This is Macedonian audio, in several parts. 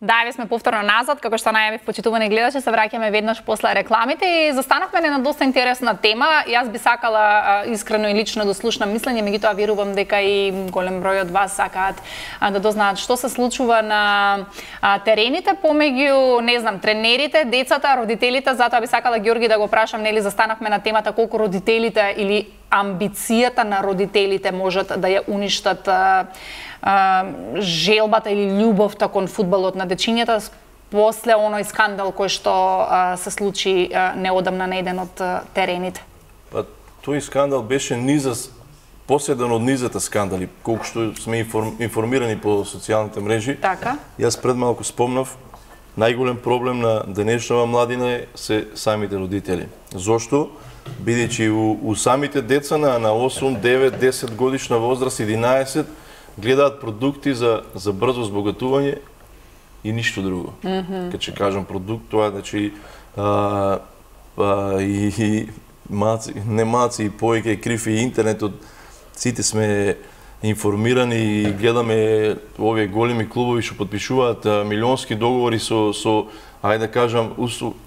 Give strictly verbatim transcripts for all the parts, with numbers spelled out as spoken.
Да, еве сме повторно назад, како што најавив, почитувани гледачи, се враќаме веднаш после рекламите и застанавме на доста интересна тема. Јас би сакала а, искрено и лично да слушнам мислење, меѓутоа верувам дека и голем број од вас сакаат а, да дознаат што се случува на а, терените помеѓу, не знам, тренерите, децата, родителите. Затоа би сакала Ѓорги да го прашам, нели застанавме на темата колку родителите или амбицијата на родителите можат да ја уништат а, а, желбата или љубовта кон фудбалот на дечињата после оној скандал кој што а, се случи а, неодамна на еден од а, терените. Па тој скандал беше низас поседен од низата скандали, колку што сме информирани по социјалните мрежи. Така. Јас пред малку спомнав, најголем проблем на денешнава младина се самите родители. Зошто? Бидејќи у, у самите деца на, на осум, девет, десет годишна возраст, единаесет, гледаат продукти за, за брзо збогатување и ништо друго. Mm -hmm. Кога ќе кажам продукт, тоа е, значи, а, а, и, и маци, не маци, и појке, и крив, и интернетот, сите сме информирани и гледаме овие големи клубови што подпишуваат а, милионски договори со, со ајде да кажам,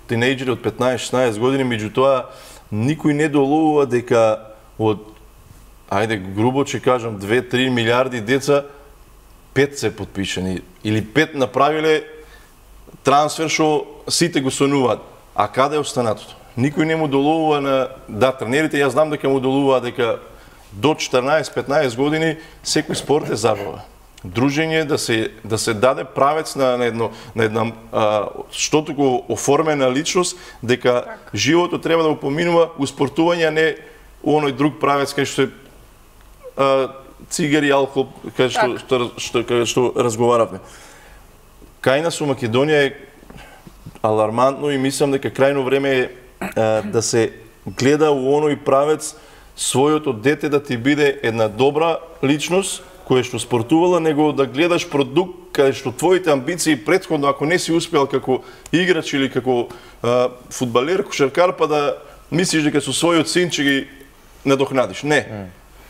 тинејџери од петнаесет шеснаесет години, меѓутоа никој не доловува дека од, ајде грубо ќе кажам, две-три милиарди деца, пет се подпишани или пет направиле трансфер што сите го сонуваат. А каде е останатото? Никој не му доловува на, да, тренерите, јас знам дека му доловува дека до четрнаесет-петнаесет години секој спорт е забава. Дружење, да се да се даде правец на, на едно на една а, што туку оформена личност, дека так. Животот треба да го поминува у спортување, а не у оној друг правец кај што е а, цигари, алкохол, кај што, што, што, кај што разговаравме. Кај нас у Македонија е алармантно и мислам дека крајно време е а, да се гледа у оној правец својото дете да ти биде една добра личност која што спортувала, него да гледаш продукт кај што твоите амбиции претходно, ако не си успел како играч или како а, фудбалер, кошаркар, па да мислиш дека со својот син ќе ги надокнадиш. Не. Mm.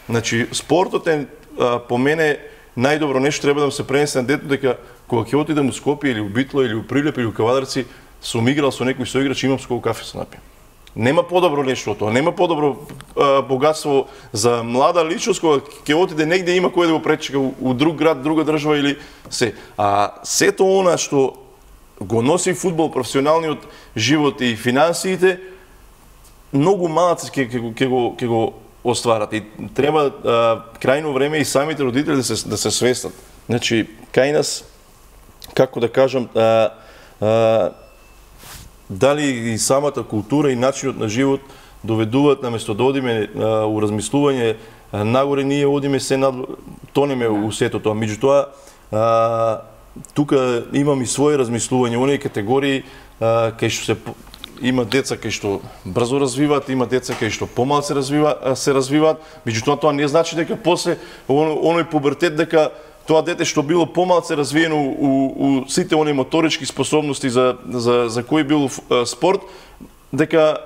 Значи, спортот е, а, по мене, најдобро нешто треба да му се пренесе на детето, дека кога ќе отидам у Скопје или у Битло или у Прилеп или у Кавадарци, сум играл со некој соиграч, имам сколку кафе се напијам. Нема подобро нешто од тоа, нема подобро а, богатство за млада личност кога ќе отиде негде има кој да го пречека у, у друг град, друга држава или се. А сето она што го носи фудбал, професионалниот живот и финансиите, многу малаци ќе ќе ќе го ќе го остварат и треба а, крајно време и самите родители да се да се свестат. Значи, кај нас, како да кажам, а, а, дали и самата култура и начинот на живот доведуваат наместо да одиме а, у размислување а, нагоре, ние одиме се над тонеме у сето тоа. Меѓутоа, а, тука имам и своје размислување, оние категории а, кај што се има деца кај што брзо развиваат, има деца кај што помал се развиваат, се развиваат. Меѓутоа тоа не значи дека после оној пубертет дека тоа дете што било помалце развиено у, у, у сите оние моторички способности за, за, за кој бил спорт, дека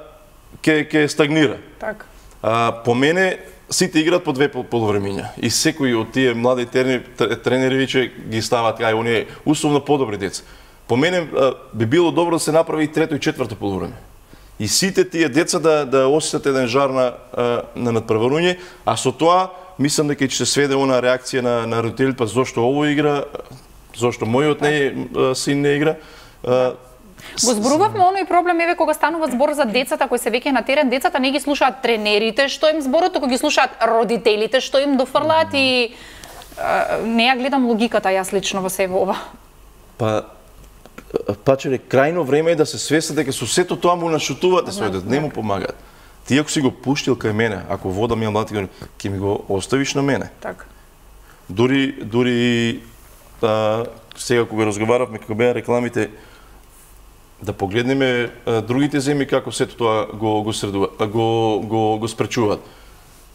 ќе ќе стагнира. Так. А, по мене, сите играат по две полувремиња. И секој од тие млади тренери, тренери веќе ги ставаат кај оние условно подобри деца. По мене а, би било добро да се направи и трето и четврто полувреме. И сите тие деца да, да осетат еден жар на, на надпреварување, а со тоа мислам дека ќе се сведе она реакција на, на родителите, па зошто ово игра, зошто мојот не, син не игра. Го зборувавме оној проблем, еве, кога станува збор за децата кои се веќе на терен, децата не ги слушаат тренерите, што им зборот, туку ги слушаат родителите, што им дофрлаат и а, не ја гледам логиката јас лично во себе ова. Па, пачеле, крајно време е да се свестат дека со сето тоа му нашутувате свој дете, не му помагаат. Ти ако си го пуштил кај мене, ако водам ја млад, ќе ми го оставиш на мене. Так. Дури, дури а, сега кога разговаравме, кога беа рекламите, да погледнеме а, другите земји како сето тоа го го средува, го го го спречуваат.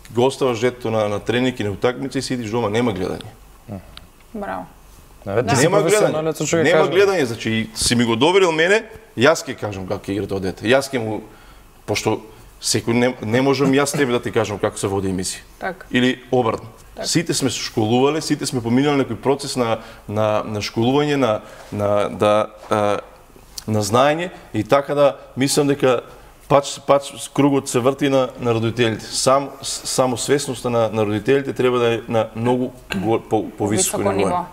Го оставаш детето на на тренинг и на утакмици и сидиш дома, нема гледање. Браво. Да. Нема гледање. Нема гледање, значи си ми го доверил мене, јас ќе кажам како ќе игра тоа дете. Јас ќе му, пошто секој не, не можам јас тебе да ти кажам како се води емисија. Так. Или обратно. Сите сме школувале, сите сме поминали некој процес на на на школување, на на да а, на знаење и така да мислам дека пач пач кругот се врти на на родителите. Сам само свесноста на на родителите треба да е на многу по, повисоко ниво.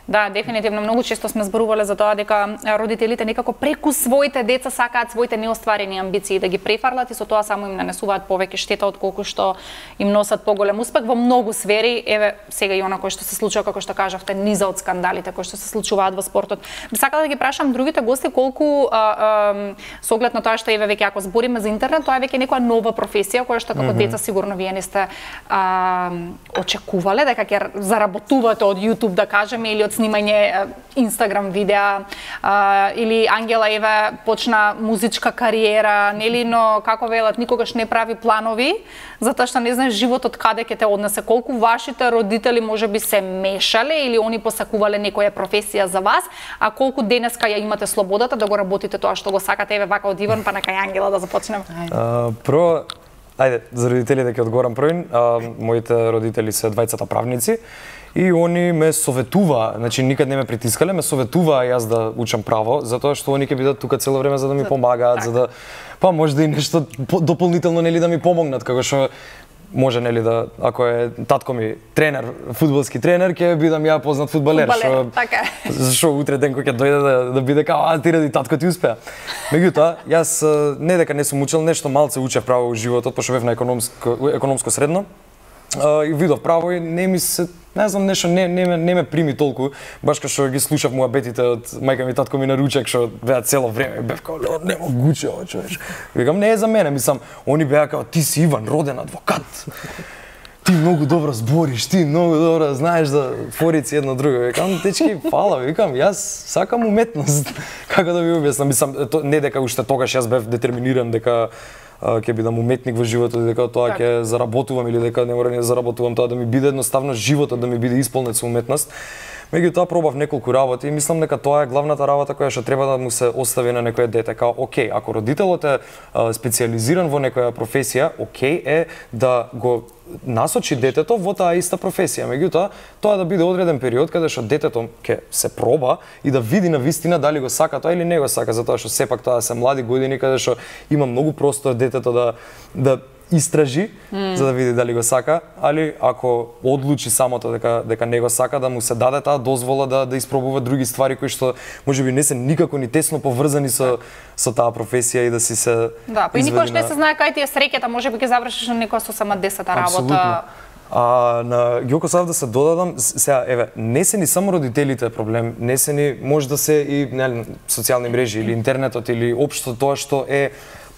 Да, дефинитивно многу често сме зборувале за тоа дека родителите некако преку своите деца сакаат своите неостварени амбиции да ги префарлат и со тоа само им нанесуваат повеќе штета отколку што им носат поголем успех во многу сфери. Еве сега и она кој што се случува, како што кажавте, низа од скандалите кои што се случуваат во спортот. Би сакала да ги прашам другите гости колку а, а, со оглед на тоа што еве веќе ако збориме за интернет, тоа е веќе некоја нова професија која што како mm -hmm. деца сигурно вие не сте а, очекувале дека ќе заработувате од YouTube, да кажеме, или од снимање Инстаграм видеа, а, или Ангела еве почна музичка кариера, нели, но како велат, никогаш не прави планови, затоа што не знаеш животот каде ќе те однесе. Колку вашите родители можеби се мешале или они посакувале некоја професија за вас, а колку денеска ја имате слободата да го работите тоа што го сакате, еве вака од Иван па на кај Ангела да започнеме. Uh, прво, ајде, за родителите ќе одговорам првин. Uh, моите родители се двајцата правници. И они ме советува, значи никад не ме притискале, ме советува јас да учам право, затоа што они ќе бидат тука цело време за да ми помагаат, за да па може да и нешто дополнително нели да ми помогнат, како што може нели да ако е татко ми тренер, фудбалски тренер, ќе бидам ја познат фудбалер, што така. Зашо утре ден кој ќе дојде да, да биде као а ти ради татко ти успеа. Меѓутоа, јас не дека не сум учел, нешто малце учев право во животот, пошто бев на економско економско средно. И видов право и не ми се, не знам, нешто не не ме не ме прими толку, баш кај што ги слушав муабетите од мајка ми, татко ми на ручек што беа цело време, бев као не могуче ова човеш. Викам не е за мене, мислам, они беа као ти си Иван, роден адвокат. Ти многу добро збориш, ти многу добро знаеш за форици едно друго. Викам, дечки, фала, викам, јас сакам уметност. Како да ви објаснам, мислам, не дека уште тогаш јас бев детерминиран дека ќе бидам уметник во животот и дека тоа ќе заработувам или дека не мора не заработувам, тоа да ми биде едноставно животот да ми биде исполнет со уметност. Меѓутоа пробав неколку работи и мислам дека тоа е главната работа која што треба да му се остави на некое дете. Као, окей, ако родителот е а, специализиран во некоја професија, окей е да го насочи детето во таа иста професија. Меѓутоа, тоа да биде одреден период каде што детето ќе се проба и да види на вистина дали го сака тоа или не го сака, затоа што сепак тоа се млади години каде што има многу простор детето да да истражи mm. за да види дали го сака, али ако одлучи самото дека дека не го сака, да му се даде таа дозвола да да испробува други ствари кои што можеби не се никако ни тесно поврзани со со таа професија и да си се да, па и никош не се знае кај ти е среќата, можеби ќе завршиш на некоја сосема десета работа. А на Ѓоко сав да се додадам, сега еве, не се ни само родителите проблем, не се ни може да се и нели социјални мрежи или интернетот или општо тоа што е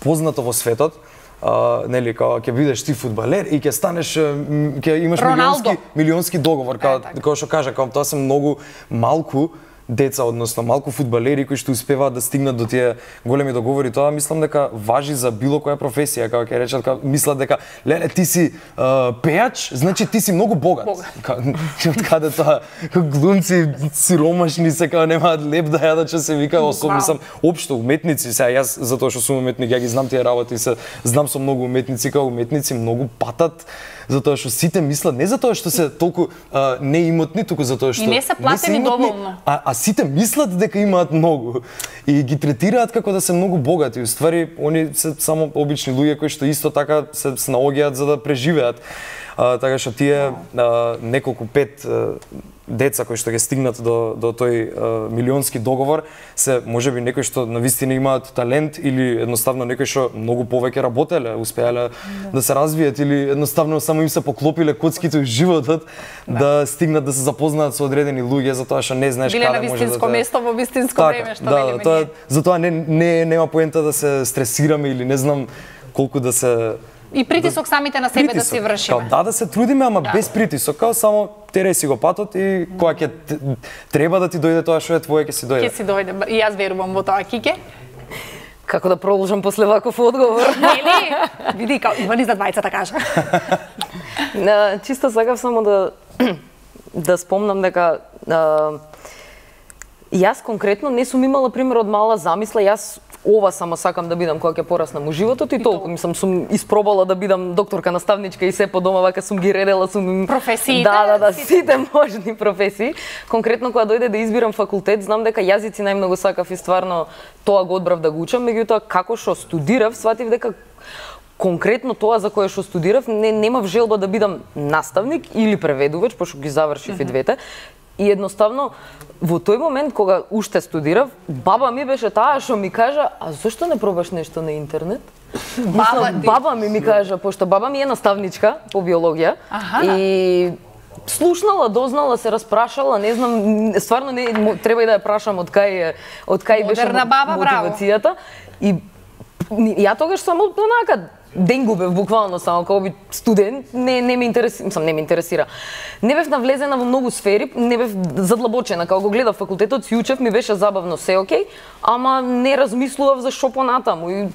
познато во светот. Uh, нели као ќе бидеш ти фудбалер и ќе станеш ќе имаш Роналдо. милионски милионски договор, као како што кажа, као тоа се многу малку деца, односно малку фудбалери кои што успеваат да стигнат до тие големи договори. Тоа мислам дека важи за било која професија, како ќе речат, како мислат дека леле ти си uh, пејач, значи ти си многу богат. Од каде тоа глумци сиромашни се као немаат леп да јадат, што се вика, особено сам општо уметници, сега јас затоа што сум уметник, ја ги знам тие работи, се знам со многу уметници, као уметници многу патат, затоа што сите мислат не затоа што се толку а, неимотни, туку затоа што и не се платени доволно. А, а сите мислат дека имаат многу и ги третираат како да се многу богати. Уствари, они се само обични луѓе кои што исто така се снаоѓаат за да преживеат. А, така што тие а, неколку пет а, деца кои што ќе стигнат до до тој а, милионски договор се можеби некои што навистина имаат талент или едноставно некои што многу повеќе работеле, успеале да. да се развијат или едноставно само им се поклопиле коцките во животот да. да стигнат да се запознаат со одредени луѓе, затоа што не знаеш биле каде може да вистинско те... место во вистинско така, време, што да, велиме тоа, ние. затоа не не нема поента да се стресираме или не знам колку да се и притисок да, самите на себе притисок, да си вршиме. Као, да, да се трудиме, ама да. без притисок, као само тере си го патот и кога ќе треба да ти дојде тоа што е твое, ќе си дојде. Ќе си дојде. И јас верувам во тоа, Кике. Како да продолжам после ваков одговор? Нели? Види, као Иван за двајцата кажа. На, чисто сакав само да да спомнам дека а, јас конкретно не сум имала пример од мала замисла, јас ова само сакам да бидам кога ќе пораснам у животот и толку. Мислам, сум испробала да бидам докторка, наставничка и се по дома, вака сум ги редела, сум професиите. Да, да, да, сите можни професии. Конкретно кога дојде да избирам факултет, знам дека јазици најмногу сакав и стварно тоа го одбрав да го учам, меѓутоа како што студирав, сватив дека конкретно тоа за кое што студирав, не немав желба да бидам наставник или преведувач, пошто ги завршив mm -hmm. и двете. И едноставно во тој момент кога уште студирав, баба ми беше таа што ми кажа: "А зошто не пробаш нешто на интернет?" Баба, баба ми ми кажа, пошто баба ми е наставничка по биологија. Аха. И слушнала, дознала, се распрашала, не знам, стварно не треба и да ја прашам од кај од кај беше баба, мотивацијата. Браво. И ја тогаш само онака ден губев буквално само како би студент, не не ме интересира, мислам не ме интересира. Не бев навлезена во многу сфери, не бев задлабочена, кога го гледав факултетот, си учев, ми беше забавно, се окей, ама не размислував за што понатаму. И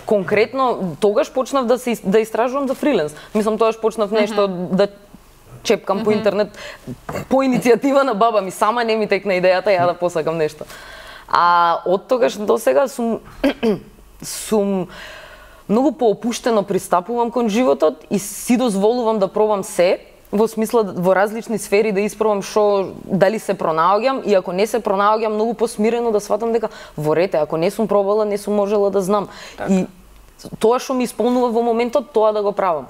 конкретно тогаш почнав да се да истражувам за фриленс. Мислам тогаш почнав нешто mm -hmm. да чепкам mm -hmm. по интернет по иницијатива на баба ми, сама не ми текна идејата ја да посакам нешто. А од тогаш до сега сум сум многу поопуштено пристапувам кон животот и си дозволувам да пробам се, во смисла во различни сфери да испробам што дали се пронаоѓам, и ако не се пронаоѓам, многу посмирено да сватам дека во рете, ако не сум пробала, не сум можела да знам. Так. И тоа што ми исполнува во моментот, тоа да го правам.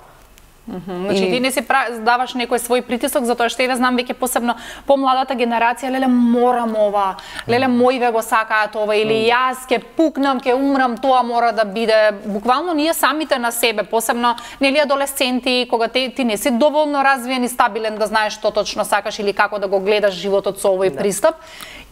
Mm -hmm. Значи, и... ти не си даваш некој свој притисок, затоа што еве знам веќе посебно помладата генерација, леле морам ова, леле мојве го сакаат ова, или mm. јас ќе пукнам, ќе умрам, тоа мора да биде. Буквално ние самите на себе, посебно нели адолесценти, кога те, ти не си доволно развиен и стабилен да знаеш што точно сакаш или како да го гледаш животот со овој да. пристап.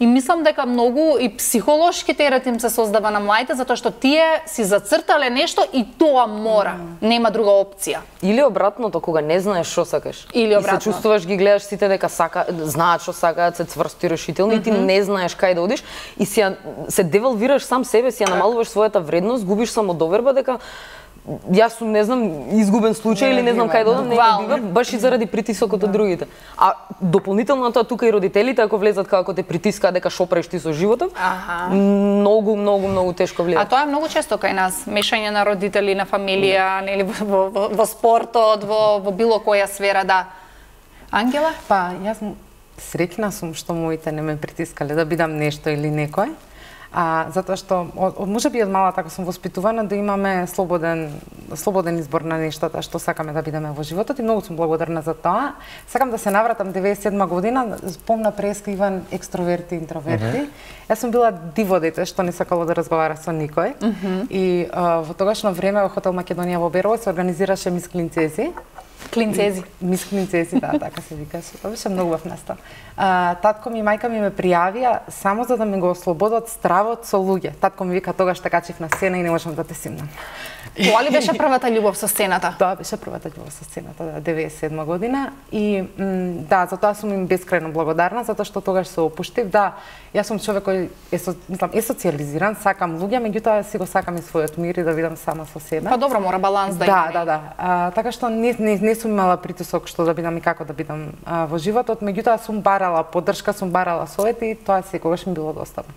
И мислам дека многу и психолошки терет им се создава на младите, затоа што тие си зацртале нешто и тоа мора, mm. нема друга опција. Или обратното, кога не знаеш што сакаш. Или обратно. И се чувствуваш, ги гледаш сите дека сака, знаат што сакаат, се цврсти решителни, mm -hmm. и ти не знаеш кај да одиш и си се девалвираш сам себе, си ја намалуваш својата вредност, губиш самодоверба дека јас сум, не знам, изгубен случај не, или не знам кај да одам, не бива, баш и заради притисокот да. од другите. А дополнително на тоа тука и родителите ако влезат како те притискаат дека шо правиш ти со животот, аха. многу многу многу тешко влијат. А тоа е многу често кај нас, мешање на родители, на фамилија, да. нели во, во, во спортот, во, во било која сфера, да. Ангела? Па, јас среќна сум што моите не ме притискале да бидам нешто или некој. А, затоа што од, можеби од мала така сум воспитувана да имаме слободен слободен избор на нештата што сакаме да бидеме во животот и многу сум благодарна за тоа. Сакам да се навратам деветдесет и седма година, помна преска Иван екстроверти и интроверти. Uh -huh. Јас сум била диво дете што не сакало да разговара со никој. Uh -huh. И а, во тогашно време во хотел Македонија во Берово се организираше Мис Клинцези. Клинцези. Мис Клинцези, да, така се викаше. Тоа беше многу убав настан. А, татко ми и мајка ми ме пријавија само за да ме го ослободат стравот со луѓе. Татко ми вика тогаш така качив на сцена и не можам да те симнам. Тоа ли беше првата љубов со сцената? Тоа беше првата љубов со сцената, да, деветдесет и седма година. И да, за тоа сум им бескрајно благодарна, затоа што тогаш се опуштив. Да, јас сум човек кој е, со, мислам, е социјализиран, сакам луѓе, меѓутоа си го сакам и својот мир и да видам сама со себе. Па добро, мора баланс да има. Да, да, да. А, така што не, не, не сум имала притисок што да бидам и како да бидам а, во животот, меѓутоа сум барала поддршка, сум барала совет и тоа секогаш ми било достапно.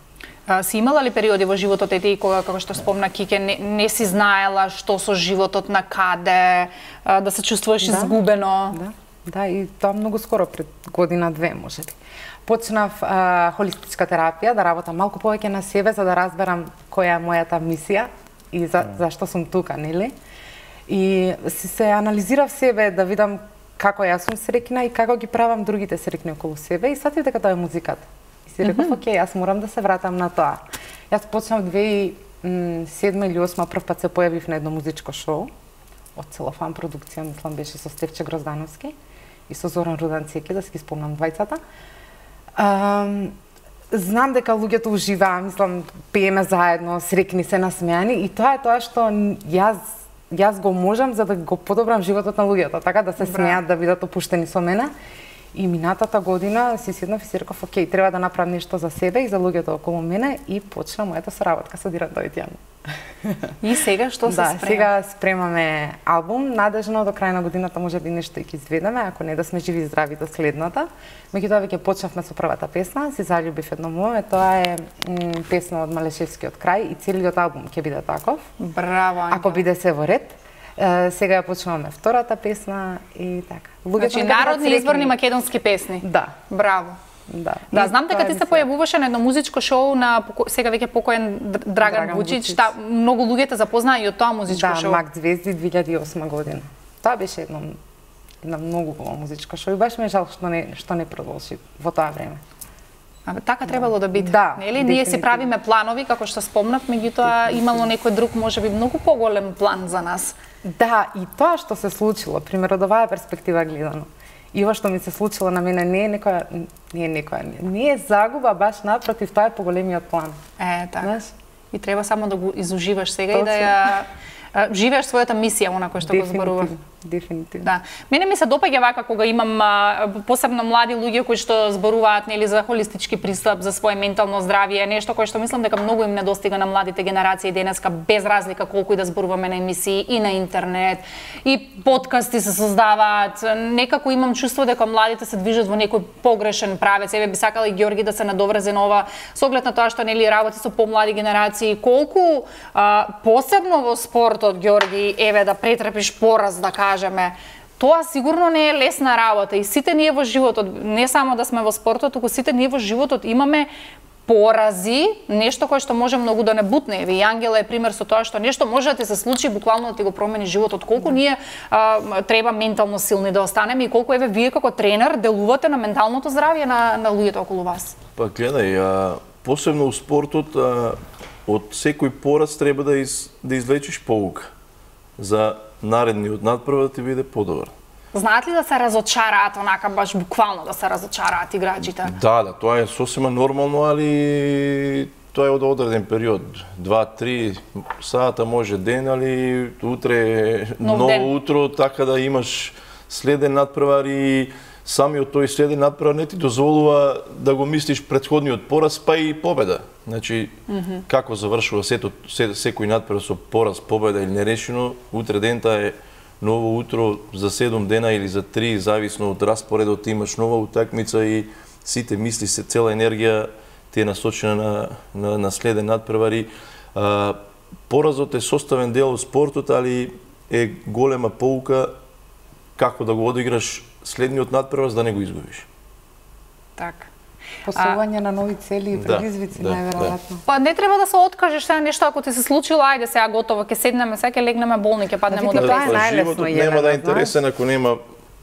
А, си имала ли периоди во животот е ти кога, како што спомна Кике, не, не си знаела што со животот, на каде, а, да се чувствуваш да, изгубено? Да, да, и тоа многу скоро, пред година-две, можеби. Почнав а, холистичка терапија, да работам малку повеќе на себе, за да разберам која е мојата мисија и за, зашто сум тука, нели? И си се анализирав себе, да видам како јас сум среќна и како ги правам другите среќни околу себе и сатив дека тоа е музиката. Си реков, окей, јас морам да се вратам на тоа. Јас почнав две тисячи и седма или осма прв пат се појавив на едно музичко шоу од Целофан продукција, мислам беше со Стефче Гроздановски и со Зоран Руданцеки, да си ги спомнам двајцата. Um, знам дека луѓето уживаа, мислам, пееме заедно, среќни се, насмејани и тоа е тоа што јас јас го можам за да го подобрам животот на луѓето, така да се смеат, да бидат опуштени со мене. И минатата година си седнав и си реков, окей, треба да направам нешто за себе и за луѓето околу мене и почна мојата соработка со Диран Дојдјан. И сега што се да, спрема? сега спремаме албум, надежно до крај на годината може би нешто и ќе изведеме, ако не да сме живи и здрави до следната. Меѓутоа веќе почнавме со првата песна, Си заљубив едно моје, тоа е м, песна од Малешевскиот крај и целиот албум ќе биде таков. Браво, Ангела. Ако биде се во ред. Е, сега ја почнуваме втората песна и така. Луѓето Значи, некако народни среќни. изборни македонски песни. Да. Браво. Да. Да, И знам дека тоа ти е се мисија. појавуваше на едно музичко шоу на поко- сега веќе покоен Др- Драган, Драган Вучич, Вучич. та многу луѓе те запознаа и од тоа музичко Да, шоу. Мак Звезди две илјади и осма година. Тоа беше едно една многу големо музичко шоу и баш ме е жал што не што не продолжи во тоа време. Абе, така требало да биде. Да, Нели? Ние си дефинитивно. правиме планови, како што спомнав, меѓутоа имало некој друг, можеби многу поголем план за нас. Да, и тоа што се случило, пример од оваа перспектива гледано. И ова што ми се случило на мене не е некоја не е некоја не е загуба, баш напротив, тоа е поголемиот план. Е, така. Знаеш? И треба само да го изуживаш сега и Точно. да ја а, живееш својата мисија, она кој што го зборува. Дефинитивно, дефинитивно. Да. Мене ми се допаѓа вака кога имам а, посебно млади луѓе кои што зборуваат нели за холистички пристап, за свое ментално здравје, нешто кое што мислам дека многу им недостига на младите генерации денеска, без разлика колку и да зборуваме на емисии и на интернет, и подкасти се создаваат. Некако имам чувство дека младите се движат во некој погрешен правец. Еве би сакала и Ѓорги да се надоврзе на ова, со оглед на тоа што нели работи со помлади генерации, колку а, посебно во спортот, Ѓорги, еве да претрпиш пораз, да кажеме, тоа сигурно не е лесна работа и сите ние во животот, не само да сме во спортот, туку сите ние во животот имаме порази, нешто кое што може многу да не бутне. Еве, и Ангела е пример со тоа што нешто може да ти се случи буквално да ти го промени животот. Колку ние а, треба ментално силни да останеме и колку еве вие како тренер делувате на менталното здравје на, на луѓето околу вас. Па гледај, а, посебно у спортот, а, од секој пораз треба да, из, да извлечеш поука за наредниот надпрва да ти биде подобар. Знаат ли да се разочараат, онака баш буквално да се разочараат играчите? Да, да, тоа е сосема нормално, али тоа е од одреден период. Два-три сата може ден, али утре е Нов ново ден. утро, така да имаш следен надпревар и самиот тој следен надпревар не ти дозволува да го мислиш претходниот пораз, па и победа. Значи, mm -hmm. како завршува сето, се, секој надпревар со пораз, победа или нерешено, утре дента е ново утро за седум дена или за три, зависно од распоредот, имаш нова утакмица и сите мисли, се цела енергија ти е насочена на, на, на следен надпревар и а, поразот е составен дел од спортот, али е голема поука како да го одиграш следниот надпревар за да не го изгубиш. Така. Посување на нови цели и Да, предизвици, да, најверојатно. Па не треба да се откажеш сега нешто ако ти се случило, ајде сега готово, ќе седнеме, сега ќе легнеме болни, ќе паднеме од Тоа е депресија. најлесно, Животот Елена, нема да е знаеш. интересен ако нема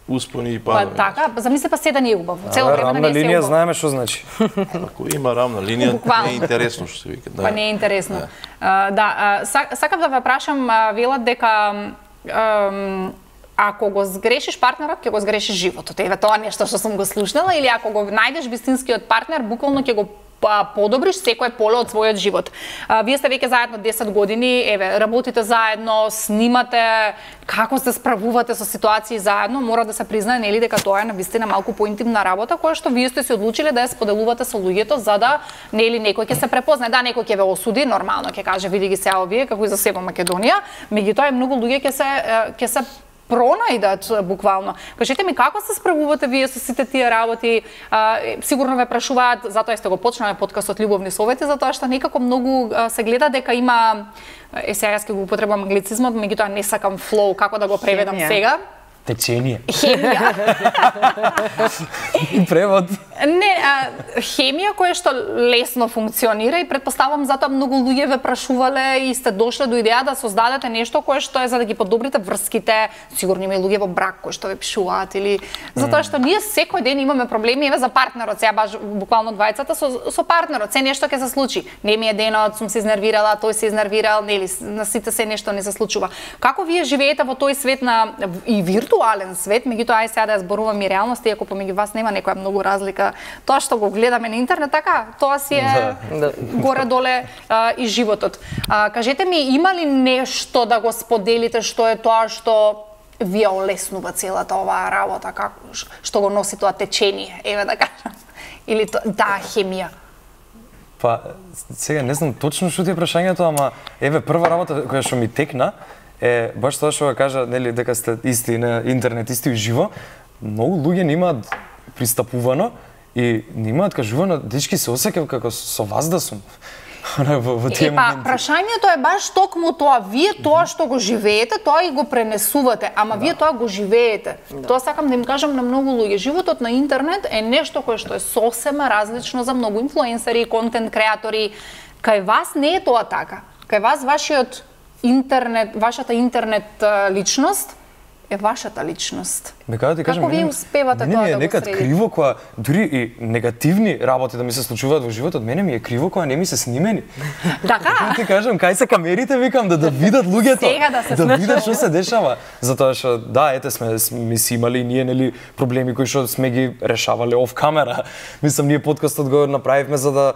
успони и Па падови. така, замисли па се да не е убаво. Цело А, време да рамна не се линија убаво. знаеме што значи. Ако има рамна линија, Буквално. не е интересно што се вика. Да. Па не е интересно. Да, да а, сак- сакам да ве прашам, а, велат дека ам, ако го сгрешиш партнерот, ќе го сгрешиш животот. Еве тоа нешто што сум го слушнала, или ако го најдеш вистинскиот партнер, буквално ќе го па, подобриш секое поле од својот живот. А, вие сте веќе заедно десет години, еве, работите заедно, снимате, како се справувате со ситуации заедно, мора да се признае нели дека тоа е навистина малку поинтимна работа која што вие сте се одлучиле да ја споделувате со луѓето за да нели некој ќе се препознае, да некој ќе ве осуди, нормално ќе каже види ги сега овие како и за себе Македонија, меѓутоа и многу луѓе ќе се е, ќе се пронајдат буквално. Кажете ми како се справувате вие со сите тие работи? А, сигурно ве прашуваат, затоа сте го почнале подкастот Љубовни совети, затоа што некако многу а, се гледа дека има е сега јас ќе го употребам англицизмот, меѓутоа не сакам флоу, како да го преведам Хемија. сега? Течение. Хемија. И превод. Не, а, хемија која што лесно функционира и претпоставам затоа многу луѓе ве прашувале и сте дошле до идеја да создадете нешто кое што е за да ги подобрите врските. Сигурно има и луѓе во брак кои што ве пишуваат или затоа што ние секој ден имаме проблеми еве за партнерот, сега баш буквално двајцата со со партнерот, се нешто ќе се случи. Не ми е денот, сум се изнервирала, тој се изнервирал, нели, на сите се нешто не се случува. Како вие живеете во тој свет на и виртуален свет, меѓутоа ај сега да ја зборувам и реалност, иако помеѓу вас нема некоја многу разлика. Тоа што го гледаме на интернет, така, тоа си е Да. горе-доле а, и животот. А, кажете ми, има ли нешто да го споделите што е тоа што вие олеснува целата оваа работа, како што го носи тоа течение, еве да кажам, или таа хемија? Па, сега не знам точно што ти е прашањето, ама еве прва работа која што ми текна е баш тоа што го кажа, нели, дека сте исти на интернет, исти уживо. Многу луѓе немаат пристапувано и немаат кажувано, дечки се осеќав како со вас да сум. во, во тие е, па, моменти. прашањето е баш токму тоа, вие тоа што го живеете, тоа и го пренесувате, ама да. Вие тоа го живеете. Да. Тоа сакам да им кажам на многу луѓе. Животот на интернет е нешто кое што е сосема различно за многу инфлуенсери, контент креатори. Кај вас не е тоа така. Кај вас вашиот интернет, вашата интернет личност е вашата личност. Бе, кажа ти кажам, како вие успевате мене тоа ми е да го некад средите? криво кога дури и негативни работи да ми се случуваат во животот, мене ми е криво кога не ми се снимени. Така? Како ти кажам, кај се камерите, викам, да да видат луѓето, Сега да се да видат што се дешава. Затоа што да, ете сме ми си имали и ние нели проблеми кои што сме ги решавале оф камера. Мислам, ние подкастот го направивме за да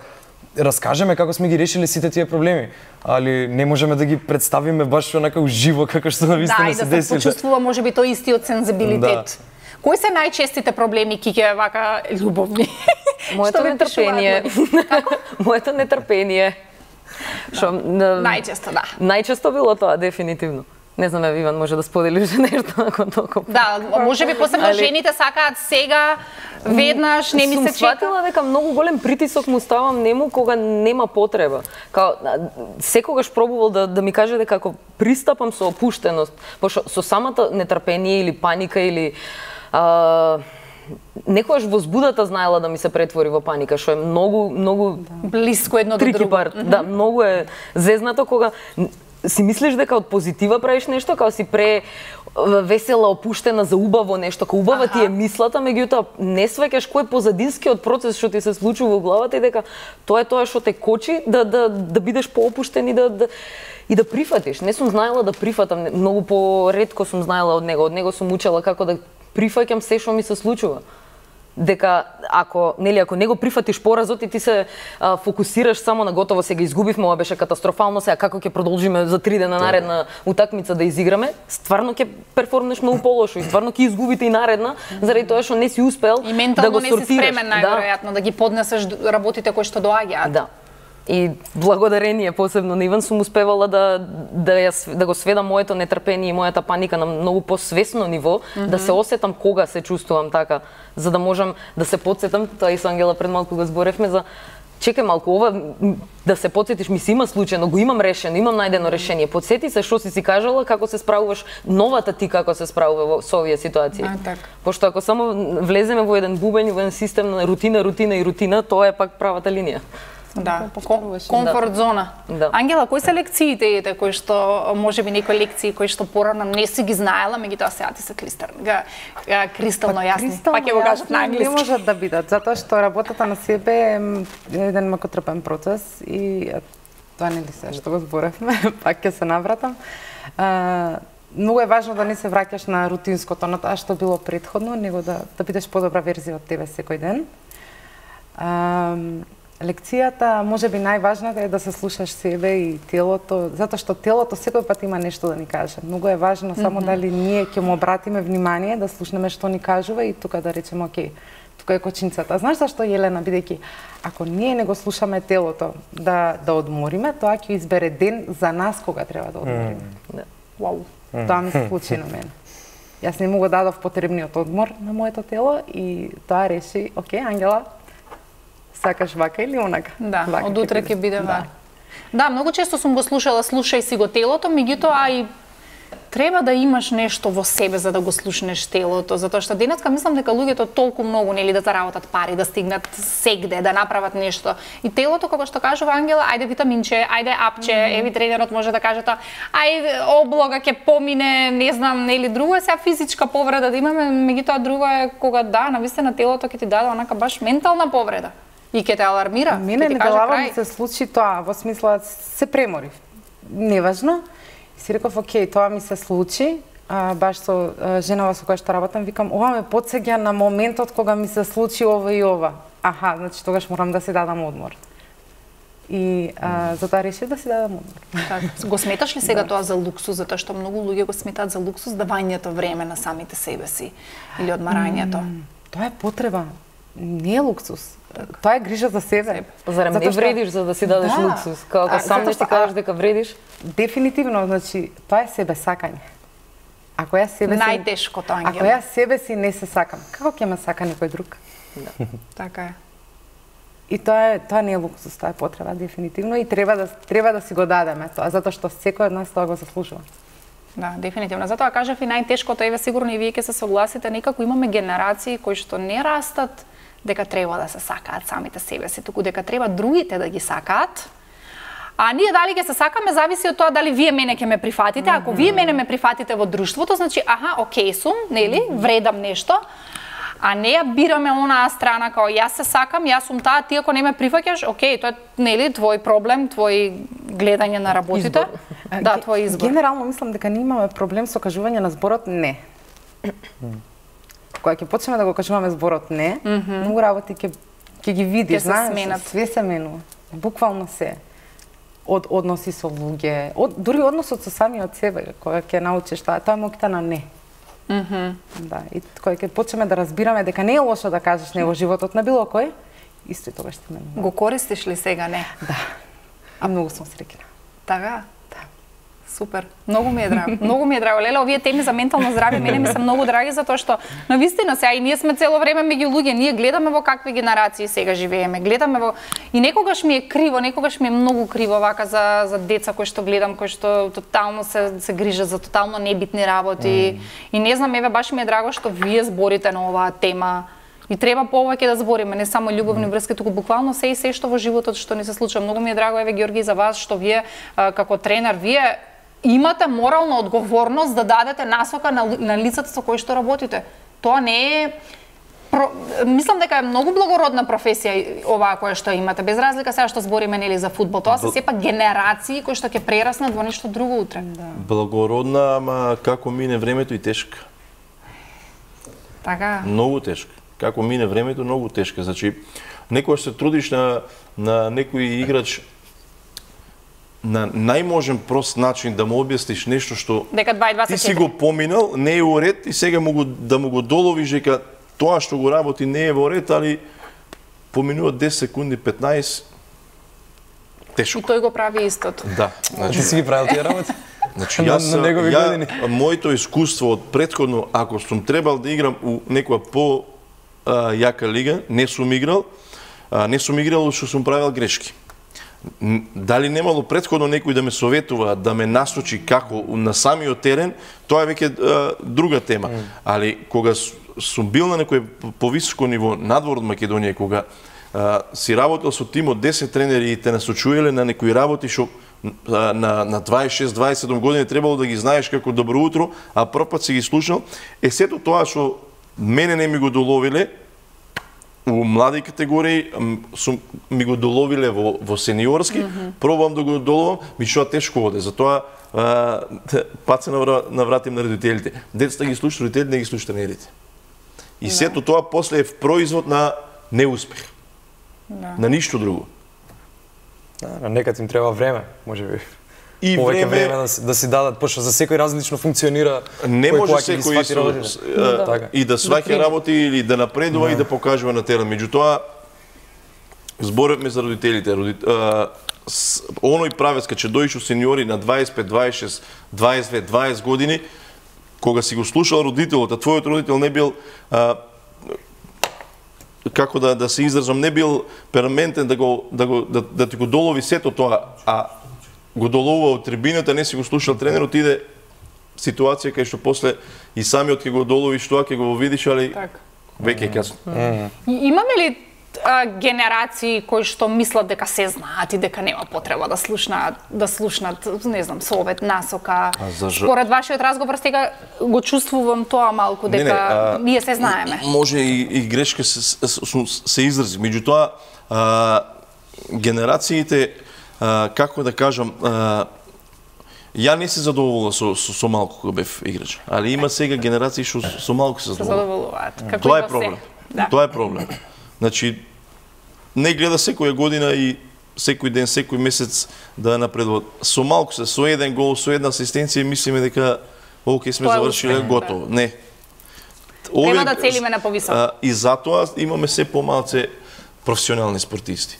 раскажеме како сме ги решили сите тие проблеми, али не можеме да ги представиме баш онака уживо како што навистина се десиле. Да, и да се десиле. почувствува можеби тој истиот сензибилитет. Да. Кои се најчестите проблеми, Кике, вака љубовни? Моето Што ви нетрпение. Моето нетрпение. Што Најчесто, да. Најчесто било тоа, дефинитивно. Не знам, Иван може да сподели уште нешто ако толку. Да, можеби посебно Али... жените сакаат сега, веднаш, не ми се чека. Сум сватила дека многу голем притисок му ставам нему кога нема потреба. Као, секогаш пробувал да, да ми каже дека ако пристапам со опуштеност, пошто со самата нетрпение или паника или а, некогаш возбудата знаела да ми се претвори во паника, што е многу, многу блиско едно до трики друго. парт. Mm -hmm. Да, многу е зезнато кога си мислиш дека од позитива правиш нешто, као си пре весела, опуштена, за убаво нешто, као убава ти е мислата, меѓутоа не сваќаш кој е позадинскиот процес што ти се случува во главата и дека тоа е тоа што те кочи да да да бидеш поопуштен и да, да и да прифатиш. Не сум знаела да прифатам, многу поретко сум знаела од него. Од него сум учела како да прифаќам се што ми се случува. Дека ако нели ако не го прифатиш поразот и ти се а, фокусираш само на готово сега изгубивме, ова беше катастрофално, сега како ќе продолжиме за три дена наредна утакмица да изиграме, стварно ќе перформнеш многу полошо и стварно ќе изгубите и наредна заради тоа што не си успел и ментално да го не сортираш. си спремен најверојатно да. да ги поднесеш работите кои што доаѓаат. Да. И благодарение посебно на Иван сум успевала да да ја да го сведам моето нетрпение и мојата паника на многу посвесно ниво, mm -hmm. да се осетам кога се чувствувам така, за да можам да се потсетам, тоа и со Ангела пред малку го зборевме за чекај малку, ова да се потсетиш ми се има случајно, го имам решено, имам најдено решение. Потсети се што си си кажала, како се справуваш, новата ти како се справува во со овие ситуации. А, така. Пошто ако само влеземе во еден бубен, во еден систем на рутина, рутина и рутина, тоа е пак правата линија. Да, комфорт да. зона. Да. Ангела, кои се лекциите ете кои што можеби некои лекции кои што порано не си ги знаела, меѓутоа сега ти се клистер, га, га, кристално јасни. Па ќе го кажат на англиски. Не можат да бидат, затоа што работата на себе е еден макотрпен процес и тоа нели се што го зборевме, пак ќе се навратам. А, многу е важно да не се враќаш на рутинското, на тоа што било претходно, него да да бидеш подобра верзија од тебе секој ден. А, лекцијата, можеби најважната е да се слушаш себе и телото, затоа што телото секој пат има нешто да ни каже. Многу е важно само mm -hmm. дали ние ќе му обратиме внимание, да слушнеме што ни кажува и тука да речеме, окей, тука е кочинцата. Знаеш зашто, Јелена, бидејќи ако ние не го слушаме телото да да одмориме, тоа ќе избере ден за нас кога треба да одмориме. Mm. Вау. Mm. Тоа ми се случи на мене. Јас не му го дадов потребниот одмор на моето тело и тоа реши, окей, Ангела, сакаш вака или онака? Да, вака од утре ќе биде вака. Да. да, многу често сум го слушала, слушај си го телото, меѓутоа и треба да имаш нешто во себе за да го слушнеш телото, затоа што денеска мислам дека луѓето толку многу нели да заработат пари, да стигнат сегде, да направат нешто. И телото, како што кажува Ангела, ајде витаминче, ајде апче, mm -hmm. еви тренерот може да каже тоа, ајде облога ќе помине, не знам, нели друго е сега физичка повреда да имаме, меѓутоа друго е кога да, навистина телото ќе ти даде онака баш ментална повреда. И ќе те алармира. Мене не глава ми се случи тоа, во смисла се преморив. Неважно. И си реков, окей, тоа ми се случи, а, баш со а, женава со која што работам, викам, ова ме потсеќа на моментот кога ми се случи ова и ова. Аха, значи тогаш морам да си дадам одмор. И а, затоа решив да си дадам одмор. Така. Го сметаш ли сега тоа за луксус, затоа што многу луѓе го сметаат за луксус давањето време на самите себе си или одмарањето? М, Тоа е потреба, не е луксус. Тоа е грижа за себе. Зарем не Затоа што- вредиш за да си дадеш Да. луксус? Како А, сам затоа не што- ти кажеш дека вредиш? Дефинитивно, значи, тоа е себе сакање. Ако ја себе си Најтешкото, Ако Ангела. ја себе си не се сакам, како ќе ме сака некој друг? Така е. И тоа е тоа не е луксус, тоа е потреба дефинитивно и треба да треба да си го дадеме тоа, затоа што секој од нас тоа го заслужува. Да, дефинитивно. Затоа кажав и најтешкото, еве сигурно и вие ќе се согласите, некако имаме генерации кои што не растат дека треба да се сакаат самите себе си, туку дека треба другите да ги сакаат. А ние дали ќе се сакаме зависи од тоа дали вие мене ќе ме прифатите. Ако вие мене ме прифатите во друштвото, значи аха, окей сум, нели, вредам нешто. А не ја бираме онаа страна као јас се сакам, јас сум таа, ти ако не ме прифаќаш, окей, тоа е нели твој проблем, твој гледање на работите. А, Да, ге- твој избор. Генерално мислам дека ние имаме проблем со кажување на зборот не. Кога ќе почнеме да го кажуваме зборот не, многу работи ќе ќе ги видиш, Ќе се знаеш, сменат. све се менува. Буквално се. Од односи со луѓе, од дури односот со самиот себе, кога ќе научиш тоа, тоа е моќта на не. Да, и кога ќе почнеме да разбираме дека не е лошо да кажеш не во животот на било кој, исто и тогаш ќе менува. Го користиш ли сега, не? А многу сум среќна. Така? Да. Супер. Многу ми е драго. Многу ми е драго. Леле, овие теми за ментално здравје мене ми се многу драги затоа што на вистина сега и ние сме цело време меѓу луѓе, ние гледаме во какви генерации сега живееме, гледаме во и некогаш ми е криво, некогаш ми е многу криво вака за за деца кои што гледам, кои што тотално се се грижат за тотално небитни работи. И не знам, еве баш ми е драго што вие зборите на оваа тема. И треба повеќе да збориме, не само љубовни врски, туку буквално се и се што во животот што ни се случува. Многу ми е драго, еве Ѓорги, за вас што вие а, како тренер, вие имате морална одговорност да дадете насока на, на лицата со кои што работите. Тоа не е Про, мислам дека е многу благородна професија оваа која што имате, без разлика сега што збориме нели за фудбал. Тоа се сепак генерации кои што ќе прераснат во нешто друго утре. Да. Благородна, ама како мине времето и тешка. Така. Многу тешка. Како мине времето, многу тешка. Значи, некогаш се трудиш на, на некој играч на најможен прост начин да му објасниш нешто што Дека дваесет и ти си четири. го поминал, не е во ред и сега му го, да му го доловиш дека тоа што го работи не е во ред, али поминува десет секунди, петнаесет, И тешко. тој го прави истото. Да, Ти значи, си ги правил тие работи? значи на- јас, на негови ја, години. моето искуство од претходно, ако сум требал да играм у некоја по а, јака лига, не сум играл, а, не сум играл што сум правил грешки. Н- Дали немало претходно некој да ме советува, да ме насочи како на самиот терен, тоа е веќе а, друга тема. Али кога с- сум бил на некој повисоко ниво надвор од Македонија, кога а, си работел со тим од десет тренери и те насочувале на некои работи што а, на на дваесет и шест дваесет и седум години требало да ги знаеш како добро утро, а прв пат си ги слушнал, е сето тоа што мене не ми го доловиле у млади категории, м, сум, ми го доловиле во, во сениорски, mm -hmm. пробувам да го доловам, меѓутоа тешко оде. Затоа а, пат се навра, навратим на родителите. Децата ги слушаат, родителите не ги слушаат тренерите. И сето тоа после е производ на неуспех. Да. На ништо друго. Да, на некад им треба време, можеби. И Повеќе време, време да, се- да си дадат, пошто за секој различно функционира. не кој може кога ќе ги секој свати со, работите. с- а, Така. и да сваќа работи или да напредува и да покажува на терен. Меѓутоа, зборевме за родителите. Роди, а, с, оној правец кога ќе дојдеш у сениори на дваесет и пет, дваесет и шест, дваесет и две, дваесет години, кога си го слушал родителот, а твојот родител не бил а, како да да се изразам, не бил перманентен да го да го да, да ти го долови сето тоа, а го доловува од трибината, не си го слушал тренерот, иде ситуација кај што после и самиот ќе го доловиш тоа, ќе го видиш, али Така. веќе е касно. И имаме ли а, генерации кои што мислат дека се знаат и дека нема потреба да слушнаат, да слушнат, не знам, совет, насока. за жал- Според вашиот разговор сега го чувствувам тоа малку дека Не, не, а, ние се знаеме. Може и, и грешка се, се, се изрази. Меѓутоа, а, генерациите, а, како да кажам, а, ја не се задоволувам со, со, со малку кога бев играч. Али има сега генерации што со, со малку се Се задоволувам. задоволуваат. Како Тоа и е во проблем. се. Да. Тоа е проблем. Значи, не гледа секоја година и секој ден, секој месец да напредуват. Со малку се, со еден гол, со една асистенција, мислиме дека оке сме завршиле готово. Не. Треба да целиме на повисоко. И затоа имаме се помалце професионални спортисти.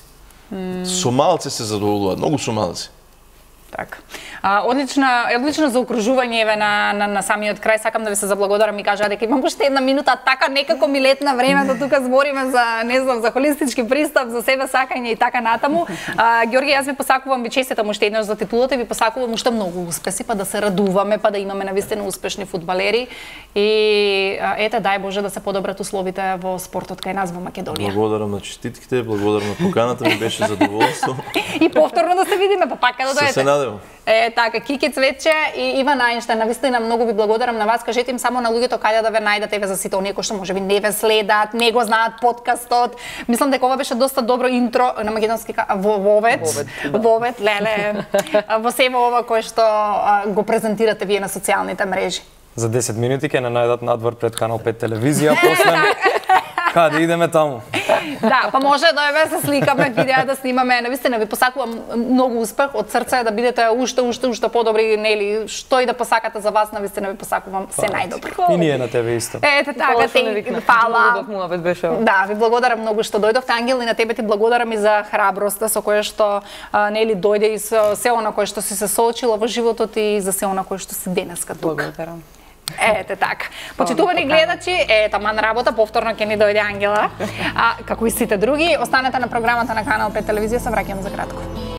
Со малце се задоволуваат, многу со малце. Така. А, одлична, одлично заокружување еве на, на, на самиот крај. Сакам да ви се заблагодарам и кажа дека имам уште една минута, така некако ми летна времето, тука збориме за, не знам, за холистички пристап, за себе сакање и така натаму. А, Ѓорги, јас ви посакувам, ви честитам уште еднаш за титулата и ви посакувам уште многу успеси, па да се радуваме, па да имаме навистина успешни фудбалери и а, ете, дај Боже да се подобрат условите во спортот кај нас во Македонија. Благодарам на честитките, благодарам на поканата, ми беше задоволство. И повторно да се видиме, па пака да дојдете. Се надевам. Е, така, Кики Цветче и Иван Ајнштајн, навистина многу ви благодарам на вас. Кажете им само на луѓето каде да ве најдат, еве за сите оние кои што можеби не ве следат, не го знаат подкастот. Мислам дека ова беше доста добро интро на македонски во вовет, вовет, леле, во себе ова кое што го презентирате вие на социјалните мрежи. За десет минути ќе не најдат надвор пред Канал пет телевизија, после каде идеме таму. Да, па може да еве се сликаме, видеа да снимаме. Навистина ви посакувам многу успех од срце, да бидете уште уште уште подобри, нели, што и да посакате за вас, навистина ви посакувам се најдобро. И ние на тебе исто. Ете така, те фала. Да, ви благодарам многу што дојдовте, Ангел, и на тебе ти благодарам и за храброста со која што нели дојде и со се она кое што си се соочила во животот и за се она кое што си денеска тука. Благодарам. Ете така. Почитувани гледачи, е таман работа, повторно ќе ни дојде Ангела. А како и сите други, останете на програмата на Канал пет телевизија, се враќам за кратко.